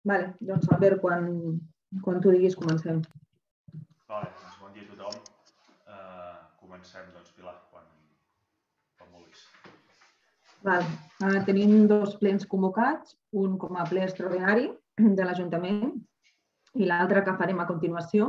Vale, doncs Albert, quan tu diguis comencem. Vale, doncs bon dia a tothom. Comencem, doncs, Pilar, quan vulguis. Tenim dos plens convocats, un com a ple extraordinari de l'Ajuntament i l'altre que farem a continuació,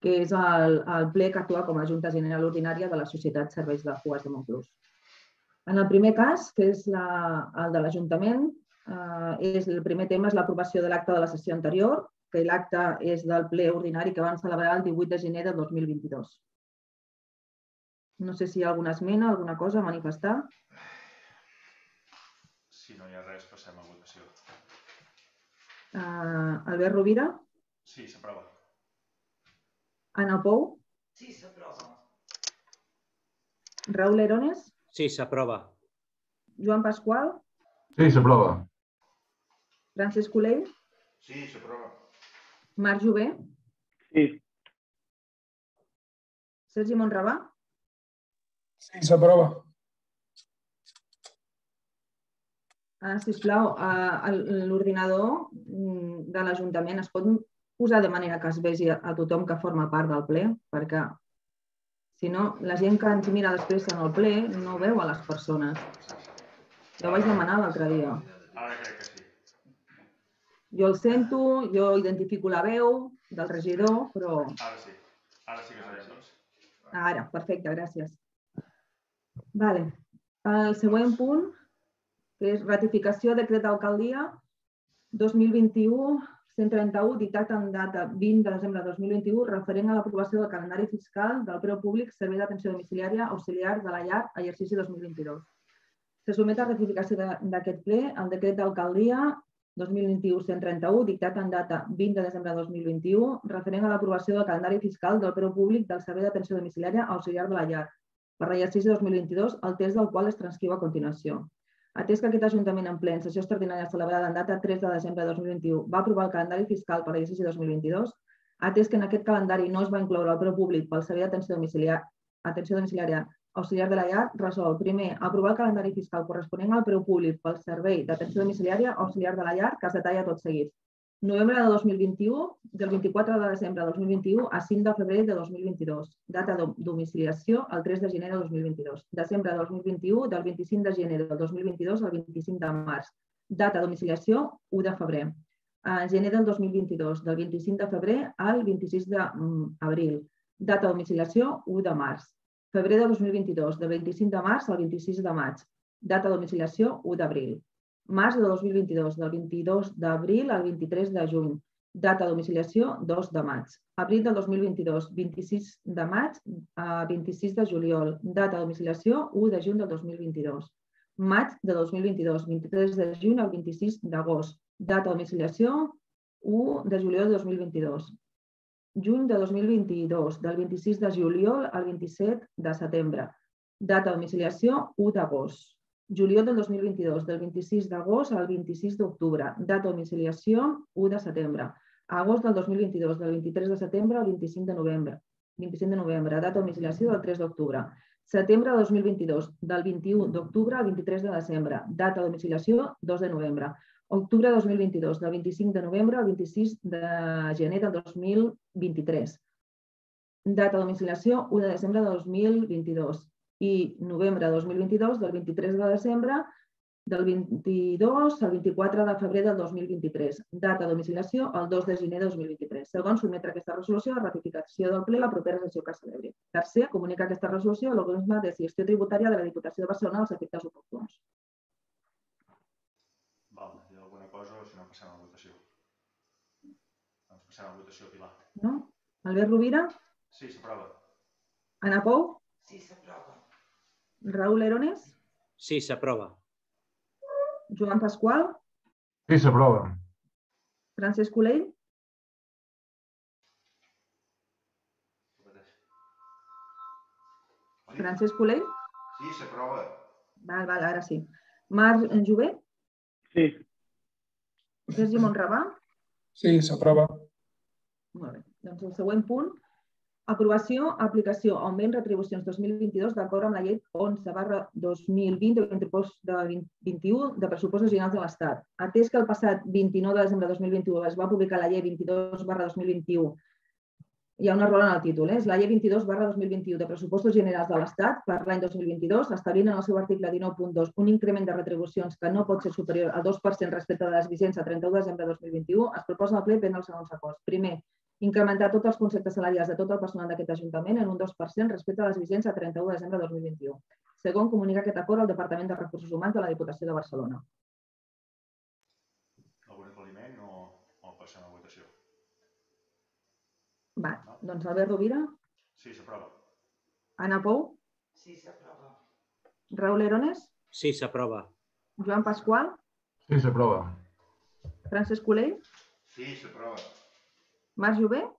que és el ple que actua com a Junta General Ordinària de la Societat Serveis de Cues de Montclús. En el primer cas, que és el de l'Ajuntament, el primer tema és l'aprovació de l'acte de la sessió anterior, que l'acte és del ple ordinari que van celebrar el 18 de gener de 2022. No sé si hi ha alguna esmena, alguna cosa a manifestar. Si no hi ha res, passem a votació. Albert Rovira? Sí, s'aprova. Ana Pou? Sí, s'aprova. Raúl Herones? Sí, s'aprova. Joan Pasqual? Sí, s'aprova. Francesc Colell? Sí, s'aprova. Marc Jové? Sí. Sergi Monravà? Sí, s'aprova. Sisplau, l'ordinador de l'Ajuntament es pot posar de manera que es vegi a tothom que forma part del ple, perquè si no, la gent que ens mira després en el ple no veu a les persones. Ja ho vaig demanar l'altre dia. Ara crec que sí. Jo el sento, jo identifico la veu del regidor, però... Ara sí. Ara sí que es veu, doncs. Ara, perfecte, gràcies. Vale. El següent punt, que és ratificació de decret d'alcaldia 2021-131, dictat en data 20 de desembre de 2021, referent a l'aprovació del calendari fiscal del preu públic servei d'atenció domiciliària auxiliar de la llar, exercici 2022. Se sotmet a ratificació d'aquest ple el decret d'alcaldia 2021-131, dictat en data 20 de desembre de 2021, referent a l'aprovació del calendari fiscal del preu públic del servei d'atenció domiciliària auxiliar de la llar, per l'exercici 2022, el text del qual es transcriu a continuació. Atès que aquest Ajuntament en ple en sessió extraordinària celebrada en data 3 de desembre de 2021 va aprovar el calendari fiscal per l'exercici 2022, atès que en aquest calendari no es va incloure el preu públic pel servei d'atenció domiciliària auxiliar de la llar, resol, primer, aprovar el calendari fiscal corresponent al preu públic pel servei d'atenció domiciliària auxiliar de la llar, que es detalla tot seguit. Novembre de 2021, del 24 de desembre de 2021 a 5 de febrer de 2022. Data de domiciliació el 3 de gener de 2022. Desembre de 2021, del 25 de gener del 2022 al 25 de març. Data de domiciliació 1 de febrer. Gener del 2022, del 25 de febrer al 26 d'abril. Data de domiciliació 1 de març. Febrer de 2022, del 25 de març al 26 de maig. Data de domiciliació 1 d'abril. Març de 2022, del 22 d'abril al 23 de juny. Data de domiciliació 2 de maig. Abril del 2022, 26 de maig a 26 de juliol. Data de domiciliació 1 de juny del 2022. Maig de 2022, 23 de juny al 26 d'agost. Data de domiciliació 1 de juliol de 2022. Juny de 2022, del 26 de juliol al 27 de setembre. Data de domiciliació 1 d'agost. Juliol del 2022, del 26 d'agost al 26 d'octubre. Data de domiciliació 1 de setembre. Agost del 2022, del 23 de setembre al 25 de novembre. Data de domiciliació del 3 d'octubre. Setembre de 2022, del 21 d'octubre al 23 de desembre. Data de domiciliació 2 de novembre. Octubre de 2022, del 25 de novembre al 26 de gener del 2023. Data de domiciliació 1 de desembre de 2022. I novembre de 2022, del 23 de desembre del 22 al 24 de febrer del 2023. Data de domiciliació el 2 de gener de 2023. Segon, sotmetre aquesta resolució a ratificació del ple la propera sessió que celebri. Tercer, comunica aquesta resolució a l'organisme de gestió tributària de la Diputació de Barcelona als efectes oportuns. Val, hi ha alguna cosa o si no passem a votació? Doncs passem a votació, Pilar. No? Albert Rovira? Sí, s'aprova. Ana Pou? Sí, s'aprova. Raúl Herones? Sí, s'aprova. Joan Pasqual? Sí, s'aprova. Francesc Colell? Francesc Colell? Sí, s'aprova. Val, ara sí. Marc Jové? Sí. Sergi Monravà? Sí, s'aprova. Molt bé. Doncs el següent punt Aprovació, aplicació, augment, retribucions 2022 d'acord amb la llei 11/2020 de pressupost de 21 de pressupostos generals de l'Estat. Atès que el passat 29 de desembre de 2021 es va publicar la llei 22/2021, hi ha un error en el títol, és la llei 22/2021 de pressupostos generals de l'Estat per l'any 2022, establint en el seu article 19.2 un increment de retribucions que no pot ser superior al 2% respecte de les vigents a 31 de desembre de 2021, es proposa al ple prendre els següents acords. Primer, incrementar tots els conceptes salarials de tot el personal d'aquest Ajuntament en un 2% respecte a les vigents a 31 de desembre de 2021. Segon, comunicar aquest acord al Departament de Recursos Humans de la Diputació de Barcelona. Algun aclariment o passem a votació? Doncs Albert Rovira. Sí, s'aprova. Anna Pou. Sí, s'aprova. Raúl Erones. Sí, s'aprova. Joan Pasqual. Sí, s'aprova. Francesc Colell. Sí, s'aprova. Marc Jové.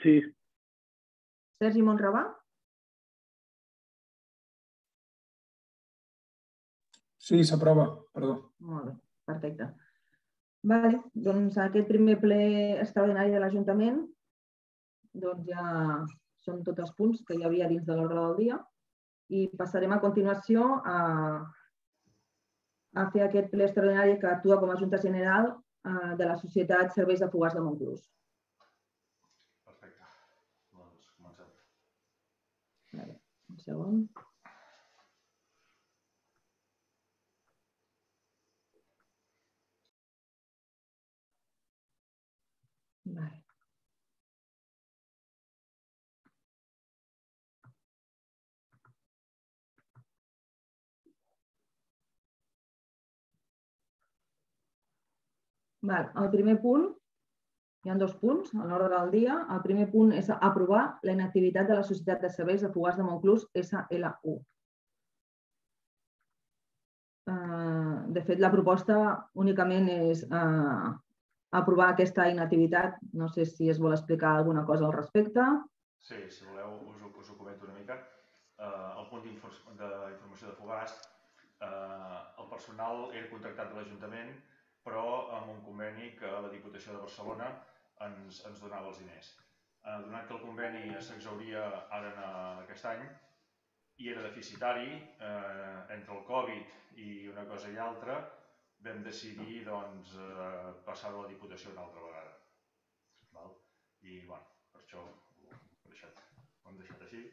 Sí. Sergi Monravà. Sí, s'aprova. Perdó. Molt bé, perfecte. Vale, doncs aquest primer ple extraordinari de l'Ajuntament doncs ja són tots els punts que hi havia dins de l'ordre del dia i passarem a continuació a fer aquest ple extraordinari que actua com a Junta General de la Societat Serveis de Fogars de Montclús. Perfecte. Doncs comencem. Un segon. Vale. El primer punt, hi ha dos punts a l'ordre del dia. El primer punt és aprovar la inactivitat de la Societat de Serveis de Fogars de Montclús, SLU. De fet, la proposta únicament és aprovar aquesta inactivitat. No sé si es vol explicar alguna cosa al respecte. Sí, si voleu us ho comento una mica. El punt d'informació de Fogars, el personal era contractat de l'Ajuntament, però amb un conveni que la Diputació de Barcelona ens donava els diners. Donat que el conveni s'exhauria ara aquest any i era deficitari, entre el Covid i una cosa i altra, vam decidir passar-ho a la Diputació una altra vegada. I per això ho hem deixat així.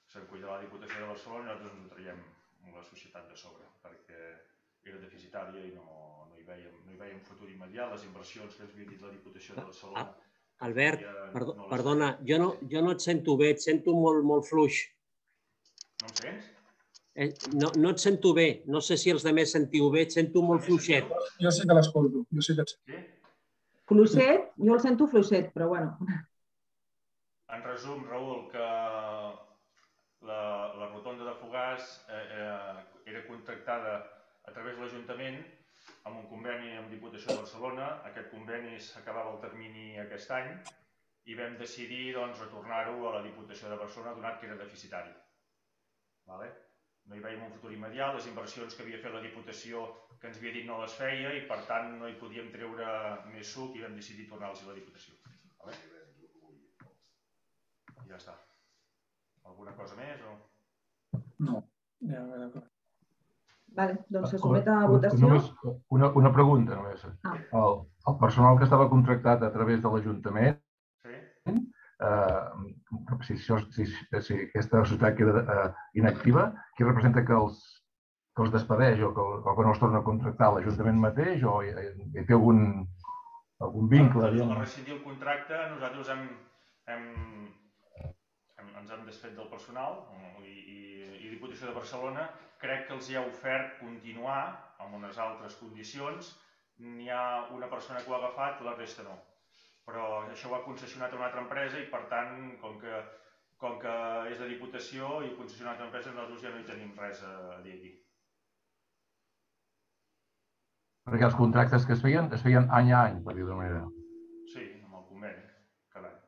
Se'n cuidarà la Diputació de Barcelona i nosaltres ens ho traiem la societat de sobre, perquè era deficitària i no hi veiem futur immediat. Les inversions que ens havia dit la Diputació de Barcelona... Albert, perdona, jo no et sento bé, et sento molt fluix. No em sents? No et sento bé, no sé si els altres sentiu bé, et sento molt fluixet. Jo sí que l'escolto, jo sí que et sento. Fluixet? Jo el sento fluixet, però bueno. En resum, Raül, que la rotonda de Fogars era contractada a través de l'Ajuntament amb un conveni amb Diputació de Barcelona. Aquest conveni s'acabava el termini aquest any i vam decidir retornar-ho a la Diputació de Barcelona donat que era deficitari. No hi veiem un futur immediat, les inversions que havia fet la Diputació que ens havia dit no les feia i per tant no hi podíem treure més suc i vam decidir tornar-los a la Diputació. I ja està. Alguna cosa més o...? No, ja d'acord. Doncs se somet a votació. Una pregunta només. El personal que estava contractat a través de l'Ajuntament, si aquesta societat queda inactiva, qui representa que els despedeix o que no els torna a contractar l'Ajuntament mateix o hi té algun vincle? Al rescindir el contracte nosaltres ens hem desfet del personal i Diputació de Barcelona crec que els hi ha ofert continuar amb unes altres condicions. N'hi ha una persona que ho ha agafat, la resta no. Però això ho ha concessionat a una altra empresa i per tant, com que és de Diputació i concessionat a una empresa, nosaltres ja no hi tenim res a dir aquí. Perquè els contractes que es feien any a any, per dir-ho d'una manera. Sí, amb el conveni, cada any.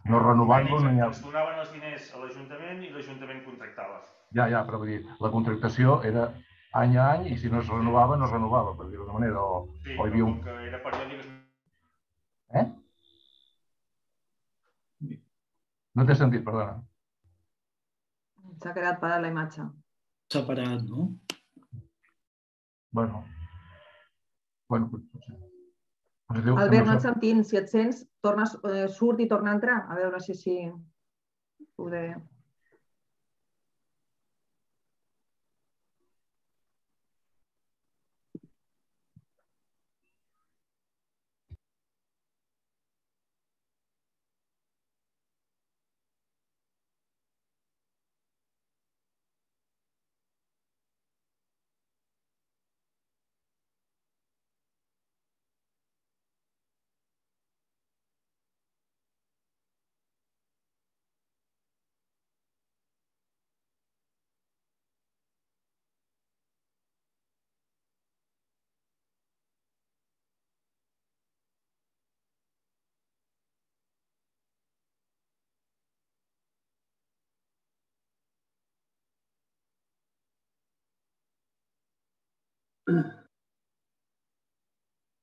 No renovant-lo no hi ha... Ens donaven els diners a l'Ajuntament i l'Ajuntament contractava. Ja, però vull dir, la contractació era any a any i si no es renovava, no es renovava, per dir-ho d'una manera. Sí, però com que era periòdic... No t'he sentit, perdona. S'ha quedat parada la imatge. Separat, no? Bueno, potser. Albert, no et sentim. Si et sents, surt i torna a entrar. A veure si així poder...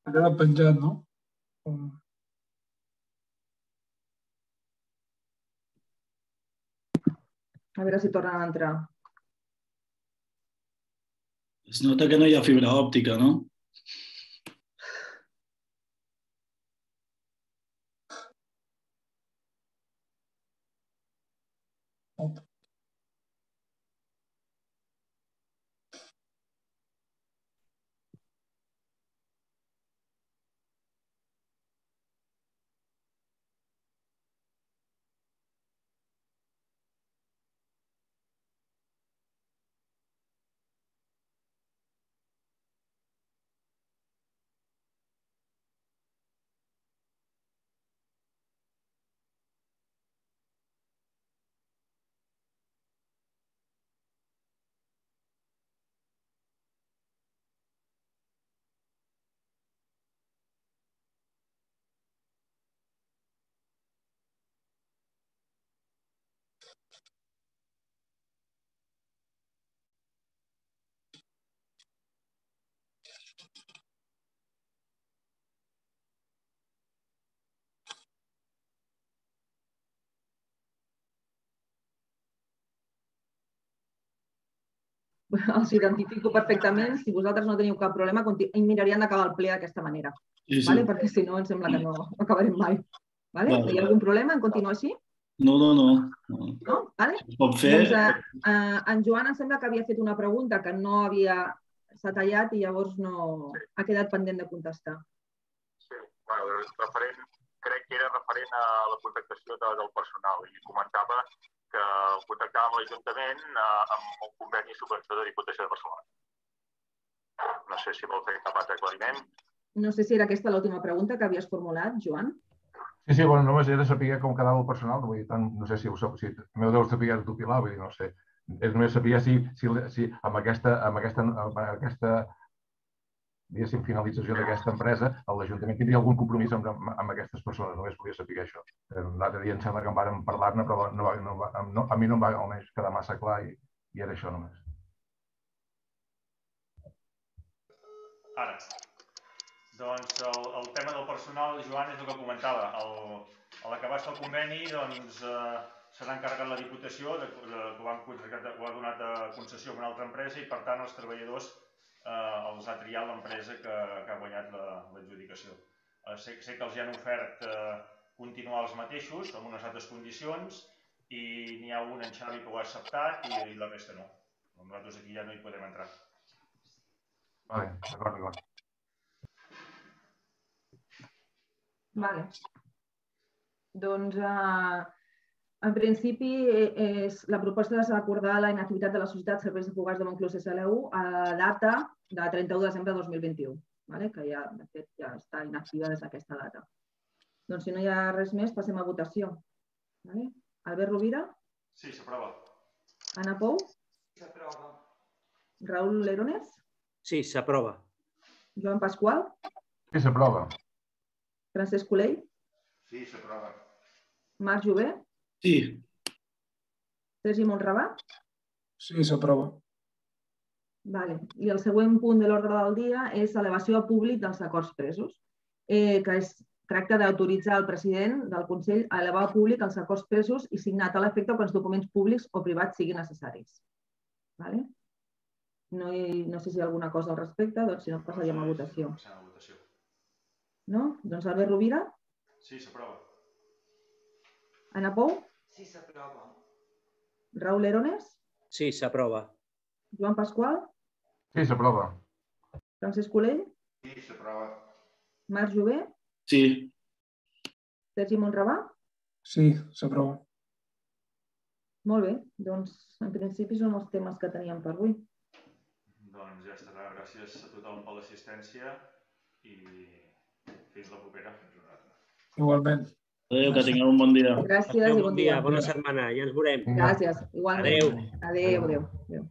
Ha quedat penjat, no? A veure si tornen a entrar. Es nota que no hi ha fibra òptica, no? Els identifico perfectament. Si vosaltres no teniu cap problema, mirarien d'acabar el ple d'aquesta manera. Sí. Perquè si no, em sembla que no acabarem mai. Hi ha algun problema en continuar així? No. No? Es pot fer... En Joan em sembla que havia fet una pregunta que no s'ha tallat i llavors no ha quedat pendent de contestar. Sí, crec que era referent a la contractació del personal i comentava que contactava amb l'Ajuntament amb un conveni de subvenció de Diputació de Barcelona. No sé si vol fer cap altre aclariment. No sé si era aquesta l'última pregunta que havies formulat, Joan. Sí, bueno, només he de saber com quedava el personal, no sé si m'heu de saber tu, Pilar, vull dir, no sé. Només sabia si amb aquesta diguéssim, finalització d'aquesta empresa, l'Ajuntament tindria algun compromís amb aquestes persones, només volia saber això. L'altre dia em sembla que en vàrem parlar-ne, però a mi no em va almenys quedar massa clar i era això només. Ara, doncs el tema del personal, Joan, és el que comentava. A l'acabar-se el conveni, doncs se n'ha encarregat la Diputació, que ho ha donat a concessió a una altra empresa i, per tant, els treballadors els ha triat l'empresa que ha guanyat l'adjudicació. Sé que els hi han ofert continuar els mateixos, amb unes altres condicions, i n'hi ha un, en Xavi, que ho ha acceptat i la resta no. Nosaltres aquí ja no hi podem entrar. D'acord. Vale. Doncs, en principi, la proposta és acordar la inactivitat de la Societat Serveis de Fogars de Montclús SLU a la data de 31 de desembre de 2021, que ja, de fet, ja està inactiva des d'aquesta data. Doncs, si no hi ha res més, passem a votació. Albert Rovira? Sí, s'aprova. Anna Pou? S'aprova. Raül Lerones? Sí, s'aprova. Joan Pasqual? Sí, s'aprova. Francesc Colell? Sí, s'aprova. Marc Jové? Sí. Sergi Montrabà? Sí, s'aprova. I el següent punt de l'ordre del dia és elevació a públic dels acords presos, que és tracta d'autoritzar el president del Consell a elevar al públic els acords presos i signat a l'efecte quan els documents públics o privats siguin necessaris. No sé si hi ha alguna cosa al respecte, doncs si no passaríem a votació. No? Doncs Albert Rovira? Sí, s'aprova. Ana Pou? Sí, s'aprova. Raúl Erones? Sí, s'aprova. Joan Pasqual? Sí, s'aprova. Francesc Colell? Sí, s'aprova. Marc Jové? Sí. Sergi Monravà? Sí, s'aprova. Molt bé, doncs en principi són els temes que teníem per avui. Doncs ja estarà. Gràcies a tothom per l'assistència i fins la propera. Igualment. Adéu, que tingueu un bon dia. Gràcies i bon dia. Bona setmana, ja ens veurem. Gràcies, igualment. Adéu. Adéu.